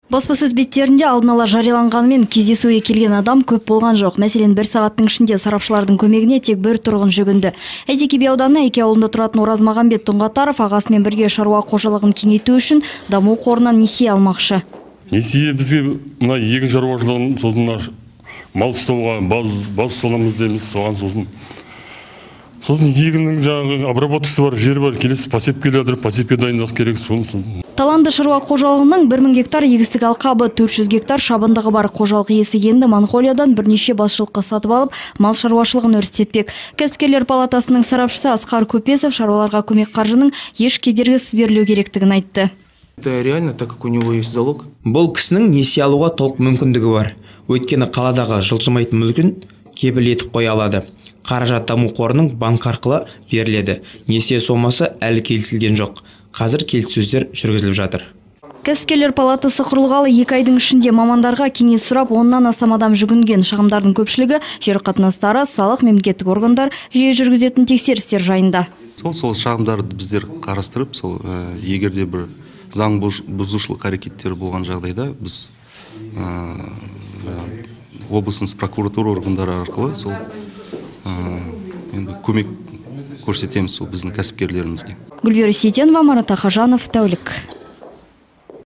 Баспасөз беттерінде алдын ала жарияланғанымен кездесуге келген адам көп болған жоқ. Мәселен, бір сағаттың ішінде сарапшылардың көмегіне тек бір тұрғын жүгінді. Әйтеке би ауданы Әке ауылында тұратын Оразмағамбет Тұңғатаров ағасымен бірге шаруа қожалығын кеңейту үшін даму қорынан несие алмақшы. Несие бізге мына егін шаруашылығын, сосын мал ұстауға баз саламыз дейміз, соған сосын егіннің жаңағы обработкасы бар, жер бар, келесі посепке келеді, посепке дайындық керек. Таланды шаруа қожалығының 1000 гектар егістік алқабы, 400 гектар шабындығы бар қожалық иесі енді Моңғолиядан бірнеше басшылыққа сатып алып, мал шаруашылығын өрістетпек. Кәсіпкерлер палатасының сарапшысы Асқар Көпесов шаруаларға көмек қаржының еш кедергісіз берілу керектігін айтты. Это реально, так как у него есть залог. Бұл кісінің несие алуға толық мүмкіндігі бар. Өйткені қаладағы жылжымайтын мүлкін кепіл етіп қоя алады. Қаражат даму қорының банк арқылы беріледі. Несие сомасы әлі келісілген жоқ. Қазір келіссөздер жүргізіліп жатыр. Кәсіпкерлер палатасы құрылғалы 2 айдың ішінде мамандарға кеңес сұрап, 10-нан астам адам жүгінген. Шағымдардың көпшілігі жер қатынастары, салық, мемлекеттік органдар жиі жүргізетін тексерістер жайында. Сол шағымдарды біздер қарастырып, егерде бір заң бұзушылық әрекеттер болған жағдайда біз облысымыз прокуратура органдары арқылы көмек көрсетеміз біздің кәсіпкерлерімізге. Гүлвира Сейтенова, Марат Ахажанов, Тәулік.